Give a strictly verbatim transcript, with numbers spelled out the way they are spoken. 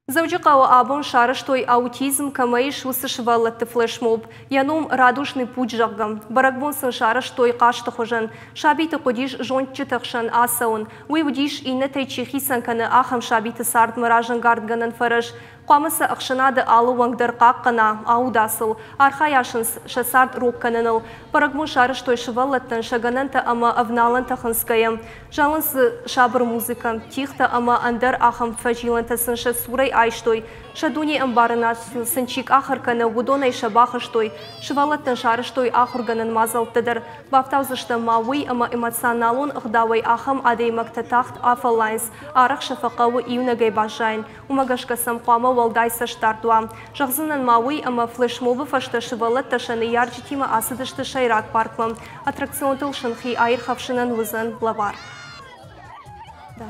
Дзӕуджыхъӕуы абон сарӕзтой, аутизм кӕмӕ ис, уыцы сывӕллӕтты флешмоб. Йӕ ном «Радужный путь», зӕгъгӕ. Бӕрӕгбон сын сарӕзтой хъазты хуызӕн. Сабиты хъуыдис зондджыты хсӕн ацӕуын. Уый уыдис, иннӕтӕй чи хицӕн кӕны, ахӕм сабиты цардмӕ разӕнгардгӕнӕн фӕрӕз. Хъуамӕ сӕ ӕхсӕнады алы уӕнг дӕр хъахъхъӕна, ауда сыл, архайа сын сӕ цард рог кӕныныл. Бӕрӕгбон сарӕзтой сывӕллӕттӕн сӕ гӕнӕнтӕ ӕмӕ авналӕнтӕ хынцгӕйӕ. Зӕлынц дзы сабыр музыкӕ, тигътӕ ӕмӕ ӕндӕр ахӕм фӕзилӕнтӕ сын сӕ цурӕй айстой. Сӕ дунеӕмбарынад сын чи къахыр кӕны, уыдонӕй сӕ бахызтой. Сывӕллӕттӕн сарӕзтой ахуыргӕнӕн мадзӕлттӕ дӕр. Бафтаудзыстӕм ма уый, ӕмӕ эмоционалон ӕгъдауӕй ахӕм адӕймӕгтӕ тагъд афӕллайынц, арӕх сӕ фӕхъӕуы иунӕгӕй баззайын. Уымӕ гӕсгӕ сӕм хъуамӕ уӕлдай цӕстдард уа. Зӕгъдзынӕн ма уый, ӕмӕ флешмобы фӕстӕ сывӕллӕттӕ сӕ ныййарджытимӕ ацыдысты сӕйраг паркмӕ. Аттракционтыл сын хи аирхӕфсынӕн уыдзӕн лӕвар. Да.